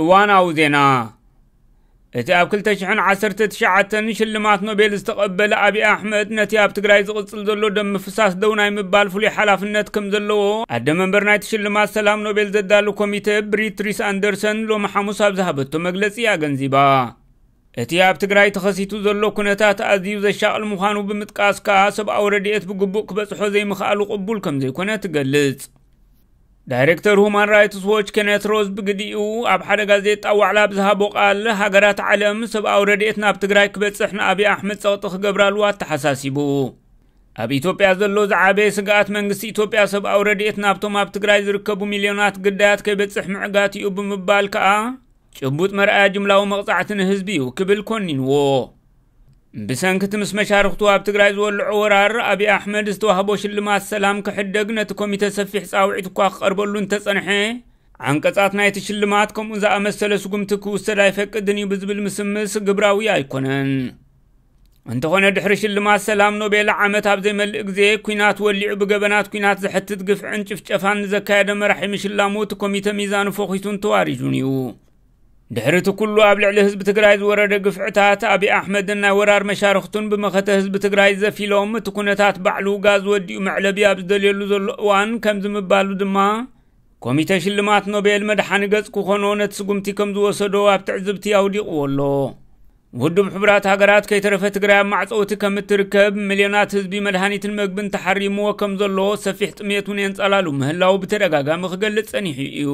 እዋናዊ ዜና። እቲ ኣብ ክልተ ሽሕን ዓሰርተ ትሽዓተን ሽልማት ኖቤል ዝተቐበለ ኣብይ ኣሕመድ፣ ነቲ ኣብ ትግራይ ዝቕጽል ዘሎ ደም ምፍሳስ ደው ናይ ምባል ፍሉይ ሓላፍነት ከም ዘለዎ ኣደ መንበር ናይቲ ሽልማት ሰላም ኖቤል ዘዳሉ ኮሚተ ብሪትሪስ ኣንደርሰን ሎሚ ሓሙስ ኣብ ዝሃበቶ መግለጺ ኣገንዚባ። እቲ ኣብ ትግራይ ተኸሲቱ ዘሎ ኩነታት ኣዝዩ ዘሻቕል ምዃኑ ብምጥቃስ ከኣ፣ ሰብኣዊ ረድኤት ብግቡእ ክበጽሖ ዘይምኽኣሉ ቅቡል ከም ዘይኮነ ትገልጽ። ዳይሬክተር ሁማን ራይትስ ዎች ኬነት ሮዝ ብግዲኡ፣ ኣብ ሓደ ጋዜጣ ዋዕላ ብዝሃቦ ቃል፣ ሃገራት ዓለም ሰብኣዊ ረድኤት ናብ ትግራይ ክበጽሕ ንኣብይ ኣሕመድ ጸቕጢ ክገብራሉ ኣተሓሳሲቡ። ኣብ ኢትዮጵያ ዘሎ ዝዓበየ ስግኣት፣ መንግስቲ ኢትዮጵያ ሰብኣዊ ረድኤት ናብቶም ኣብ ትግራይ ዝርከቡ ሚልዮናት ግዳያት ከይበጽሕ ምዕጋት እዩ ብምባል ከኣ፣ ጭቡጥ መርኣያ ጅምላዊ መቕጻዕቲ ንህዝቢ እዩ ክብል ኮኒንዎ። ብሰንኪ እቲ ምስ መሻርኽቱ ኣብ ትግራይ ዝወልዖ ወራር፣ ኣብይ ኣሕመድ ዝተዋህቦ ሽልማት ሰላም ክሕደግ ነቲ ኮሚተ ሰፊሕ ጻውዒት እኳ ክቐርበሉ እንተጸንሐ፣ ዓንቀጻት ናይቲ ሽልማት ከምኡ ዝኣመሰለ ስጉምቲ ክውሰድ ኣይፈቅድን እዩ ብዝብል ምስምስ ግብራዊ ኣይኮነን። እንተኾነ፣ ድሕሪ ሽልማት ሰላም ኖቤል ዓመት ኣብ ዘይመልእ ግዜ፣ ኲናት ወሊዑ ብገበናት ኲናት ዘሕትት ግፍዕን ጭፍጨፋን ንዘካየደ መራሒ ምሽላሙ፣ እቲ ኮሚተ ሚዛኑ ፈኺሱን ተዋሪዱን እዩ። ድሕሪ እቲ ኩሉ ኣብ ልዕሊ ህዝቢ ትግራይ ዝወረደ ግፍዕታት፣ ኣብይ ኣሕመድን ናይ ወራር መሻርኽቱን ብመኸተ ህዝቢ ትግራይ ዘፊሎም፣ እቲ ኩነታት ባዕሉ ጋዝ ወዲኡ መዕለቢ ኣብ ዝደልየሉ ዘሎ እዋን፣ ከምዚ ምባሉ ድማ፣ ኮሚተ ሽልማት ኖቤል መድሓኒ ገጽ ክኾኖ ነቲ ስጉምቲ ከም ዝወሰዶ ኣብ ትዕዝብቲ ኣውዲቕዎ ኣሎ። ውድብ ሕቡራት ሃገራት ከይተረፈ፣ ትግራይ ኣብ ማዕጸውቲ ከም እትርከብ፣ ሚልዮናት ህዝቢ መድሃኒትን መግብን ተሓሪምዎ ከም ዘሎ፣ ሰፊሕ ጥሜት እውን የንጸላሉ ምህላው ብተደጋጋሚ ክገልጽ ጸኒሑ እዩ።